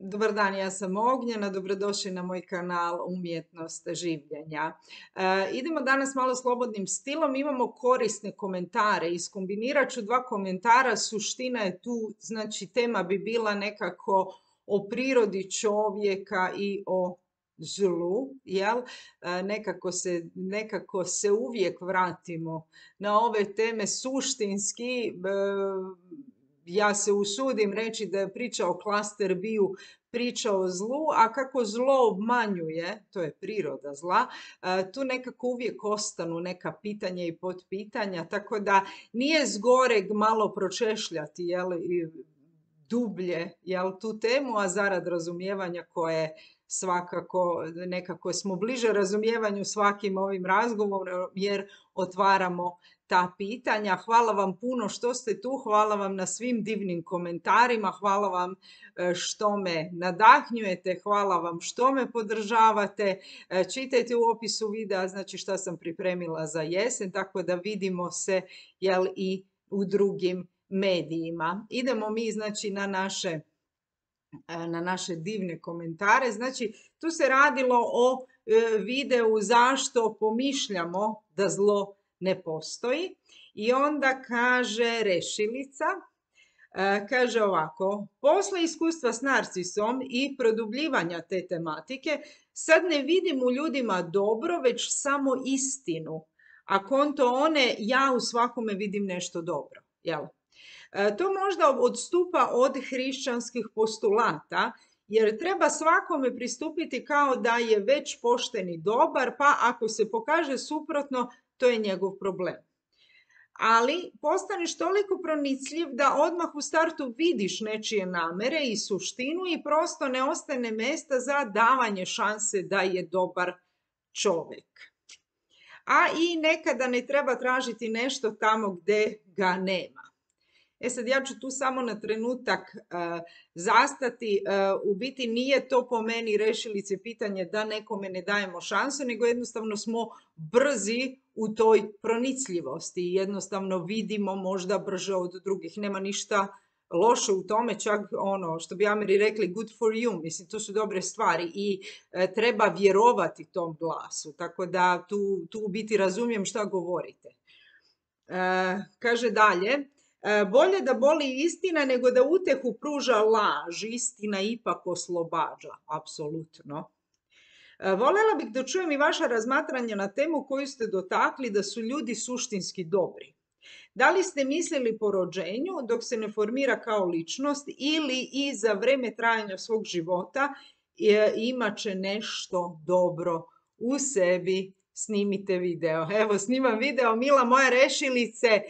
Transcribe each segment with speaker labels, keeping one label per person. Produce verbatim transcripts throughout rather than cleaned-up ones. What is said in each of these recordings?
Speaker 1: Dobar dan, ja sam Ognjena, dobrodošli na moj kanal Umjetnost življenja. E, idemo danas malo slobodnim stilom, imamo korisne komentare, iskombinirat ću dva komentara, suština je tu, znači tema bi bila nekako o prirodi čovjeka i o zlu, jel? E, nekako se, nekako se uvijek vratimo na ove teme suštinski. E, ja se usudim reći da je priča o klaster biju priča o zlu, a kako zlo obmanjuje, to je priroda zla, tu nekako uvijek ostanu neka pitanja i potpitanja, tako da nije zgoreg malo pročešljati, jel, dublje, jel, tu temu, a zarad razumijevanja koje svakako nekako smo bliže razumijevanju svakim ovim razgovorom jer otvaramo ta pitanja. Hvala vam puno što ste tu, hvala vam na svim divnim komentarima, hvala vam što me nadahnjujete, hvala vam što me podržavate. Čitajte u opisu videa, znači šta sam pripremila za jesen, tako da vidimo se, jel, i u drugim medijima. Idemo mi, znači, na naše na naše divne komentare. Znači, tu se radilo o videu zašto pomišljamo da zlo ne postoji. I onda kaže Rešilica, kaže ovako: posle iskustva s narcisom i produbljivanja te tematike, sad ne vidim u ljudima dobro, već samo istinu. A konto one, ja u svakome vidim nešto dobro. Jel? To možda odstupa od hrišćanskih postulata, jer treba svakome pristupiti kao da je već pošten i dobar, pa ako se pokaže suprotno, to je njegov problem. Ali postaneš toliko pronicljiv da odmah u startu vidiš nečije namere i suštinu i prosto ne ostane mjesta za davanje šanse da je dobar čovjek. A i nekada ne treba tražiti nešto tamo gdje ga nema. E sad, ja ću tu samo na trenutak uh, zastati. Uh, u biti nije to po meni Rešilice pitanje da nekome ne dajemo šansu, nego jednostavno smo brzi u toj pronicljivosti i jednostavno vidimo možda brže od drugih. Nema ništa loše u tome, čak ono što bi Ameri rekli good for you, mislim, to su dobre stvari i uh, treba vjerovati tom glasu, tako da tu, tu u biti razumijem šta govorite. Uh, kaže dalje: bolje da boli istina nego da utehu pruža laž, istina ipak oslobađa, apsolutno. Voljela bih da čujem i vaša razmatranja na temu koju ste dotakli, da su ljudi suštinski dobri. Da li ste mislili po rođenju dok se ne formira kao ličnost ili i za vreme trajanja svog života imat će nešto dobro u sebi? Snimite video. Evo, snimam video, mila moja Rešilice. E,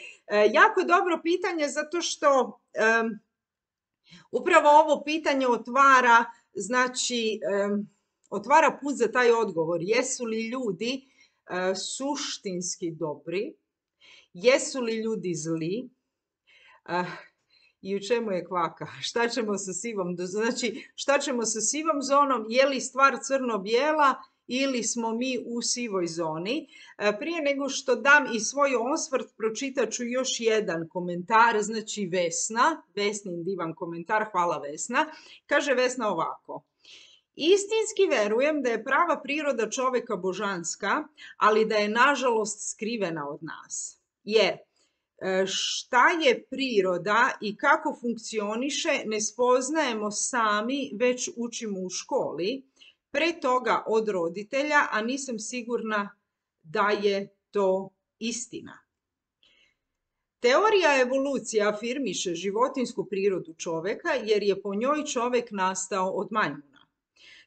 Speaker 1: jako dobro pitanje zato što um, upravo ovo pitanje otvara, znači, um, otvara put za taj odgovor. Jesu li ljudi uh, suštinski dobri? Jesu li ljudi zli? Uh, I u čemu je kvaka? Šta ćemo sa sivom? Znači, šta ćemo sa sivom zonom? Je li stvar crno-bijela ili smo mi u sivoj zoni? Prije nego što dam i svoj osvrt, pročitat ću još jedan komentar, znači Vesna, Vesnin divan komentar, hvala Vesna. Kaže Vesna ovako: istinski verujem da je prava priroda čovjeka božanska, ali da je nažalost skrivena od nas. Jer šta je priroda i kako funkcioniše ne spoznajemo sami, već učimo u školi, pre toga od roditelja, a nisam sigurna da je to istina. Teorija evolucije afirmiše životinjsku prirodu čovjeka jer je po njoj čovjek nastao od majmuna.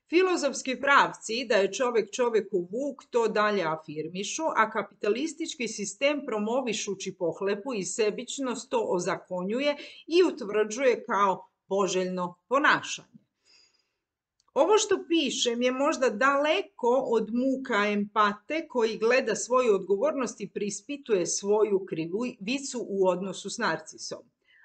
Speaker 1: Filozofski pravci da je čovjek čovjeku vuk to dalje afirmišu, a kapitalistički sistem promovišući pohlepu i sebičnost to ozakonjuje i utvrđuje kao poželjno ponašanje. Ovo što pišem je možda daleko od muka empate koji gleda svoju odgovornost i preispituje svoju krivicu u odnosu s narcisom.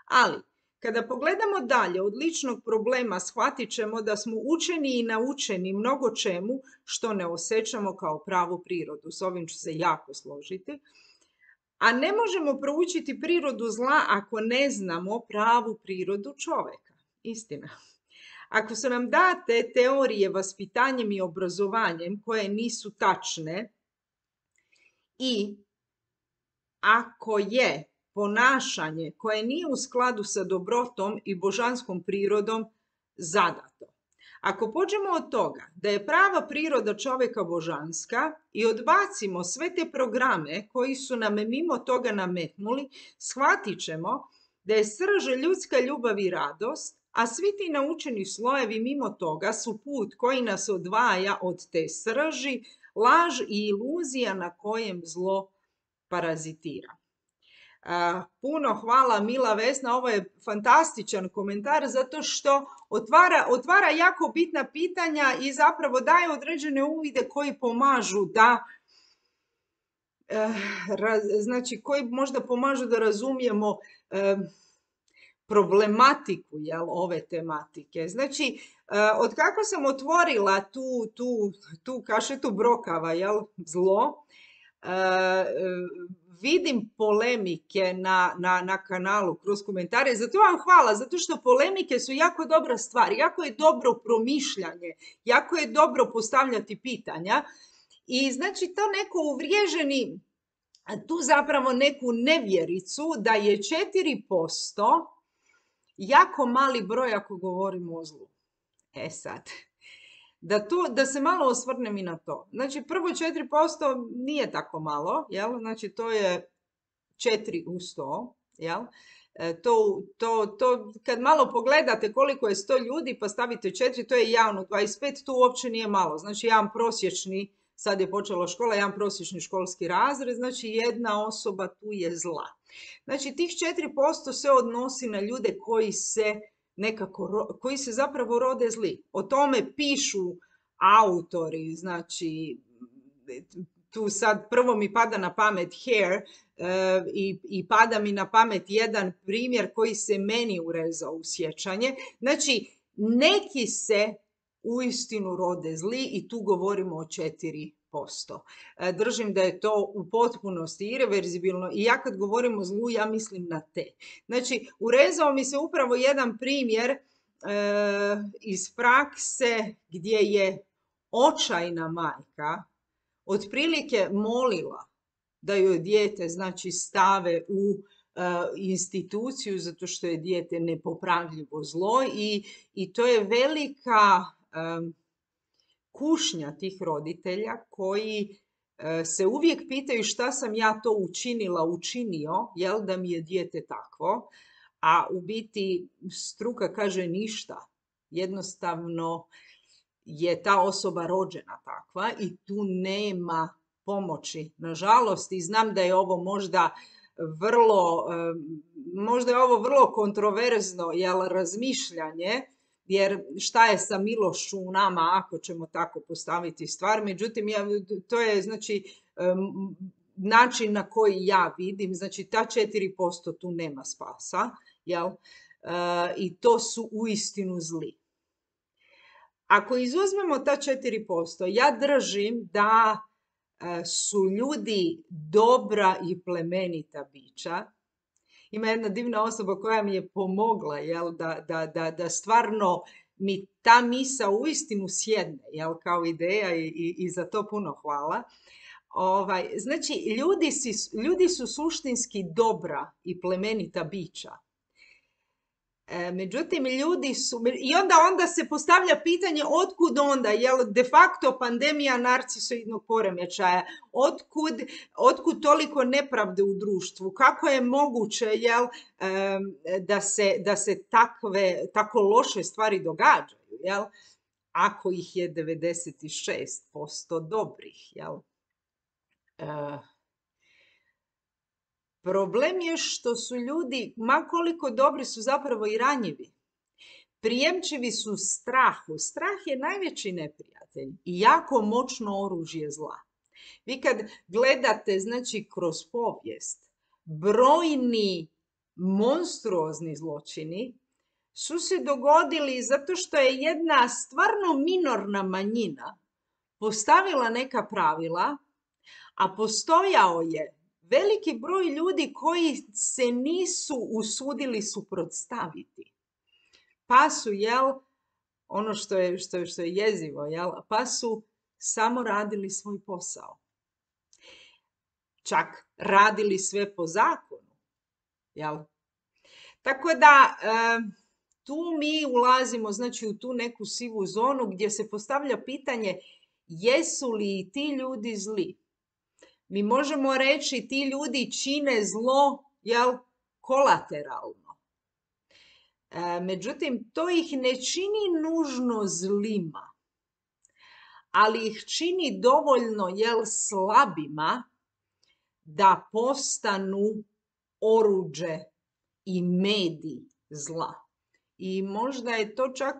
Speaker 1: Ali, kada pogledamo dalje od ličnog problema, shvatit ćemo da smo učeni i naučeni mnogo čemu što ne osjećamo kao pravu prirodu. S ovim ću se jako složiti. A ne možemo proučiti prirodu zla ako ne znamo pravu prirodu čovjeka. Istina. Ako su nam date teorije vaspitanjem i obrazovanjem koje nisu tačne i ako je ponašanje koje nije u skladu sa dobrotom i božanskom prirodom zadato. Ako pođemo od toga da je prava priroda čovjeka božanska i odbacimo sve te programe koji su nam mimo toga nametnuli, shvatit ćemo da je srž ljudska ljubav i radost, a svi ti naučeni slojevi mimo toga su put koji nas odvaja od te srži, laž i iluzija na kojem zlo parazitira. Uh, puno hvala Mila Vesna, ovo je fantastičan komentar zato što otvara, otvara jako bitna pitanja i zapravo daje određene uvide koji pomažu da uh, raz, znači koji možda pomažu da razumijemo uh, problematiku, jel, ove tematike. Znači, uh, od kako sam otvorila tu, tu, tu kašetu brokava, jel, zlo, uh, uh, vidim polemike na, na, na kanalu kroz komentare, zato vam hvala, zato što polemike su jako dobra stvar, jako je dobro promišljanje, jako je dobro postavljati pitanja i znači to neko uvriježeni, tu zapravo neku nevjericu da je četiri posto jako mali broj ako govorimo o zlu. E sad, da, tu, da se malo osvrnem i na to. Znači, prvo četiri posto nije tako malo, jel? Znači, to je četiri u sto, jel? E, to, to, to, kad malo pogledate koliko je sto ljudi pa stavite četiri, to je javno dvadeset pet, tu uopće nije malo. Znači, jedan prosječni, sad je počela škola, jedan prosječni školski razred, znači jedna osoba tu je zla. Znači, tih četiri posto se odnosi na ljude koji se nekako, koji se zapravo rode zli. O tome pišu autori, znači tu sad prvo mi pada na pamet Hare uh, i, i pada mi na pamet jedan primjer koji se meni urezao u sjećanje. Znači, neki se uistinu rode zli i tu govorimo o četiri posto. Držim da je to u potpunosti ireverzibilno i ja kad govorim o zlu, ja mislim na te. Znači, urezao mi se upravo jedan primjer e, iz prakse gdje je očajna majka otprilike molila da joj dijete, znači, stave u e, instituciju zato što je dijete nepopravljivo zlo i, i to je velika e, kušnja tih roditelja koji e, se uvijek pitaju šta sam ja to učinila, učinio, jel, da mi je dijete takvo, a u biti struka kaže ništa. Jednostavno je ta osoba rođena takva i tu nema pomoći. Nažalost, i znam da je ovo možda vrlo, e, možda je ovo vrlo kontroverzno, jel, razmišljanje, jer šta je sa milošću u nama ako ćemo tako postaviti stvar. Međutim, ja, to je znači um, način na koji ja vidim, znači ta četiri posto tu nema spasa, jel? Uh, i to su uistinu zli. Ako izuzmemo ta četiri posto, ja držim da uh, su ljudi dobra i plemenita bića. Ima jedna divna osoba koja mi je pomogla, jel, da, da, da, da stvarno mi ta misa uistinu sjedne, jel, kao ideja i, i, i za to puno hvala. Ovaj, znači, ljudi, si, ljudi su suštinski dobra i plemenita bića. E, međutim, ljudi su, i onda, onda se postavlja pitanje otkud onda, jel, de facto pandemija narcisoidnog poremećaja, otkud, otkud toliko nepravde u društvu, kako je moguće, jel, da se, da se takve, tako loše stvari događaju, jel, ako ih je devedeset šest posto dobrih, jel. E, Problem je što su ljudi, ma koliko dobri, su zapravo i ranjivi. Prijemčivi su strahu. Strah je najveći neprijatelj i jako moćno oružje zla. Vi kad gledate, znači, kroz povijest, brojni monstruozni zločini su se dogodili zato što je jedna stvarno minorna manjina postavila neka pravila, a postojao je veliki broj ljudi koji se nisu usudili suprotstaviti. Pa su, jel, ono što je, što je, što je jezivo, jel? Pa su samo radili svoj posao. Čak radili sve po zakonu, jel? Tako da tu mi ulazimo, znači, u tu neku sivu zonu gdje se postavlja pitanje jesu li ti ljudi zli. Mi možemo reći ti ljudi čine zlo, jel, kolateralno. E, međutim, to ih ne čini nužno zlima, ali ih čini dovoljno, jel, slabima da postanu oruđe i medij zla. I možda je to čak,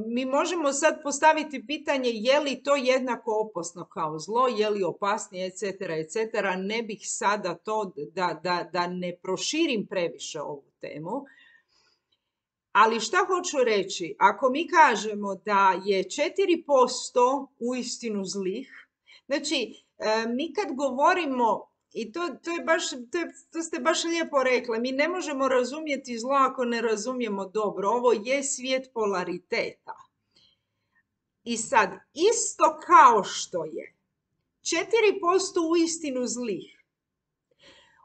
Speaker 1: mi možemo sad postaviti pitanje je li to jednako opasno kao zlo, je li opasnije, et cetera, et cetera. Ne bih sada to, da, da, da ne proširim previše ovu temu. Ali šta hoću reći? Ako mi kažemo da je četiri posto uistinu zlih, znači mi kad govorimo, i to, to, je baš, to, je, to ste baš lijepo rekla, mi ne možemo razumjeti zlo ako ne razumijemo dobro. Ovo je svijet polariteta. I sad, isto kao što je četiri posto uistinu zlih,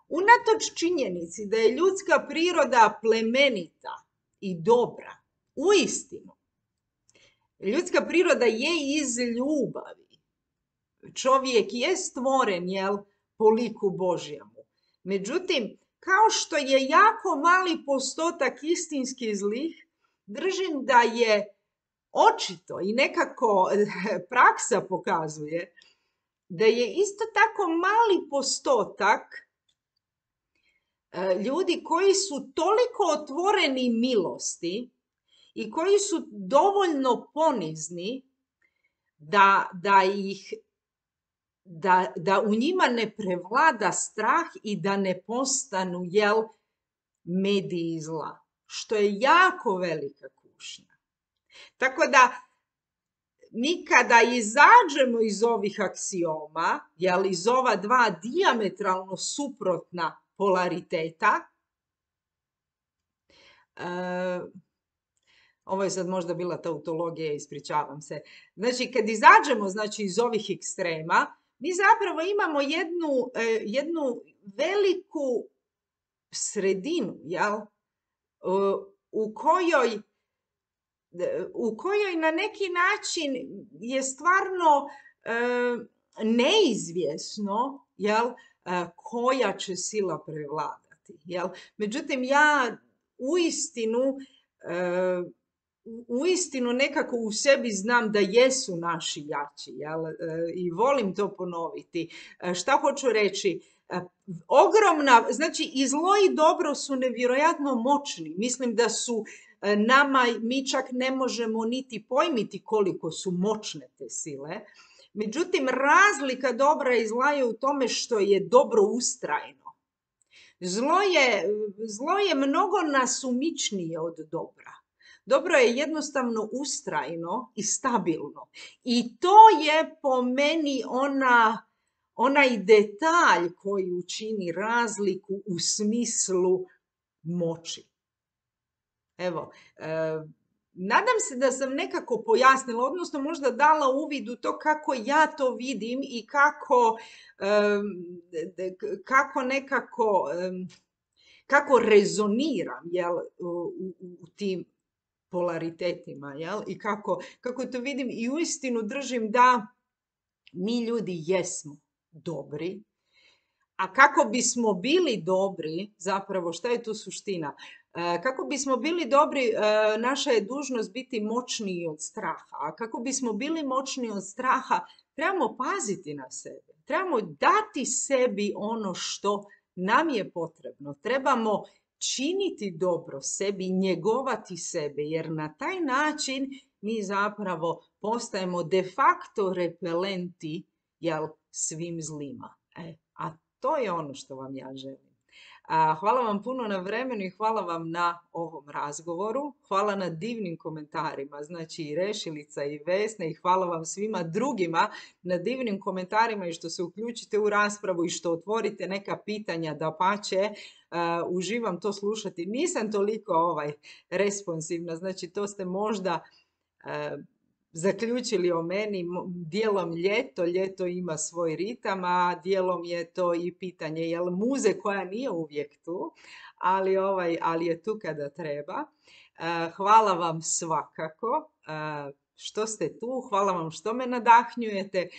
Speaker 1: unatoč činjenici da je ljudska priroda plemenita i dobra, uistinu, ljudska priroda je iz ljubavi. Čovjek je stvoren, jel, po liku Božjemu. Međutim, kao što je jako mali postotak istinski zlih, držim da je očito i nekako praksa pokazuje da je isto tako mali postotak ljudi koji su toliko otvoreni milosti i koji su dovoljno ponizni da, da ih Da, da u njima ne prevlada strah i da ne postanu, jel, mediji zla, što je jako velika kušnja. Tako da mi kada izađemo iz ovih aksioma, jel, iz ova dva dijametralno suprotna polariteta, uh, ovo je sad možda bila tautologija, ispričavam se. Znači, kad izađemo, znači, iz ovih ekstrema, mi zapravo imamo jednu, jednu veliku sredinu, jel? U kojoj, u kojoj na neki način je stvarno neizvjesno, jel, koja će sila prevladati. Jel? Međutim, ja uistinu uistinu nekako u sebi znam da jesu naši jači, jel? I volim to ponoviti. Šta hoću reći? Ogromna, znači i zlo i dobro su nevjerojatno moćni. Mislim da su nama, mi čak ne možemo niti pojmiti koliko su moćne te sile. Međutim, razlika dobra i zla je u tome što je dobro ustrajno. Zlo je, zlo je mnogo nasumičnije od dobra. Dobro je jednostavno ustrajno i stabilno. I to je po meni ona, onaj detalj koji učini razliku u smislu moći. Evo, e, nadam se da sam nekako pojasnila, odnosno možda dala uvid u to kako ja to vidim i kako, e, kako nekako, e, kako rezoniram, jel, u, u, u tim polaritetima, jel? I kako, kako to vidim i uistinu držim da mi ljudi jesmo dobri, a kako bismo bili dobri, zapravo šta je tu suština? E, kako bismo bili dobri, e, naša je dužnost biti moćniji od straha, a kako bismo bili moćniji od straha, trebamo paziti na sebe, trebamo dati sebi ono što nam je potrebno, trebamo činiti dobro sebi, njegovati sebe, jer na taj način mi zapravo postajemo de facto repelenti, jel, svim zlima. E, a to je ono što vam ja želim. A, hvala vam puno na vremenu i hvala vam na ovom razgovoru. Hvala na divnim komentarima, znači i Rešilica i Vesna, i hvala vam svima drugima na divnim komentarima i što se uključite u raspravu i što otvorite neka pitanja, dapače. Uh, uživam to slušati. Nisam toliko ovaj responsivna, znači to ste možda e, zaključili o meni, dijelom ljeto, ljeto ima svoj ritam, a dijelom je to i pitanje jel muze koja nije uvijek tu, ali, ovaj, ali je tu kada treba. Hvala vam svakako što ste tu, hvala vam što me nadahnjujete,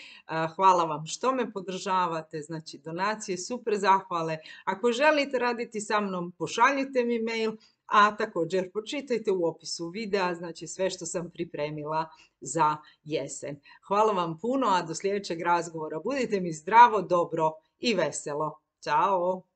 Speaker 1: hvala vam što me podržavate, znači donacije, super zahvale. Ako želite raditi sa mnom, pošaljite mi mail, a također pročitajte u opisu videa, znači sve što sam pripremila za jesen. Hvala vam puno, a do sljedećeg razgovora budite mi zdravo, dobro i veselo. Ćao!